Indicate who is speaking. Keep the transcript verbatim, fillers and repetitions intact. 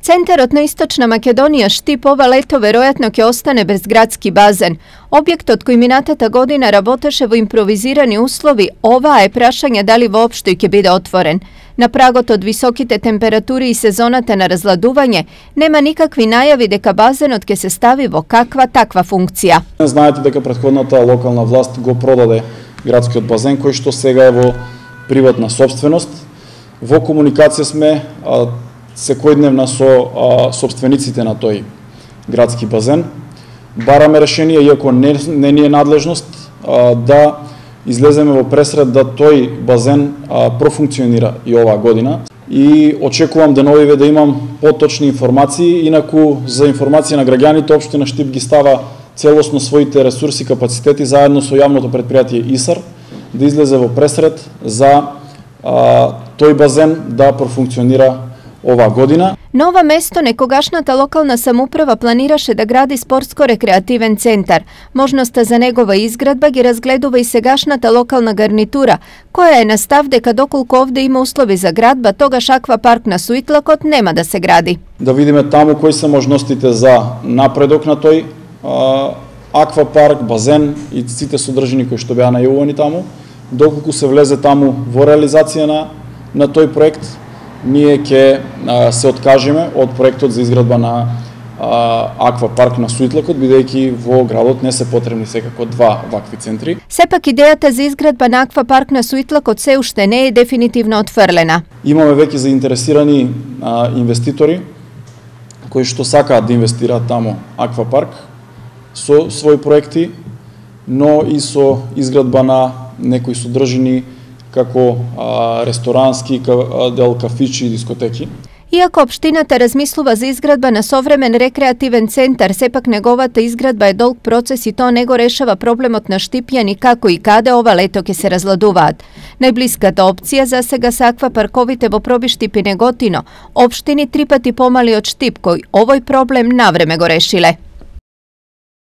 Speaker 1: Centarot na Istočna Makedonija Štip ova leto veroјатно ќе остане без градски базен. Објектот кој минатата година работеше во импровизирани услови, оваа е прашање дали воопшто ќе биде отворен. На прагот од високите температури и сезоната на разладување, нема никакви најави дека базенот ќе се стави во каква таква функција.
Speaker 2: Знаете дека претходната локална власт го продаде градскиот базен, кој што сега е во приватна собственост. Во комуникација сме а, секојдневна со а, собствениците на тој градски базен. Бараме решение, иако не, не ни е надлежност, а, да излеземе во пресред да тој базен а, профункционира и оваа година. И очекувам деновиве да имам поточни информации, инаку за информација на граѓаните општина Štip ги става целосно своите ресурси, капацитети заедно со јавното предпријатие ИСАР да излезе во пресред за а, тој базен да профункционира оваа година.
Speaker 1: На ова место некогашната локална самоуправа планираше да гради спортско-рекреативен центар. Можноста за негова изградба ги разгледува и сегашната локална гарнитура, која е на став дека доколку овде има услови за градба, тогаш аквапарк на Суитлакот нема да се гради.
Speaker 2: Да видиме таму кои се можностите за напредок на тој а, аквапарк, базен и сите содржини кои што беа најавувани таму. Доколку се влезе таму во реализација на, на тој проект, ние ќе се откажеме од проектот за изградба на а, аквапарк на Суитлакот, бидејќи во градот не се потребни секако два вакви центри.
Speaker 1: Сепак идејата за изградба на аквапарк на Суитлакот се уште не е дефинитивно отфрлена.
Speaker 2: Имаме веќе заинтересирани а, инвеститори кои што сакаат да инвестираат таму аквапарк со своји проекти, но и со изградба на некои содржини како а, ресторански дел, кафичи и дискотеки.
Speaker 1: Иако општината размислува за изградба на современ рекреативен центар, сепак неговата изградба е долг процес и тоа не го решава проблемот на Štipјани како и каде ова лето ќе се разладуваат. Најблиската опција за сега се аквапарковите во Проби, Štip и Неготино, општини три пати помали од Štip, кој овој проблем навреме го решиле.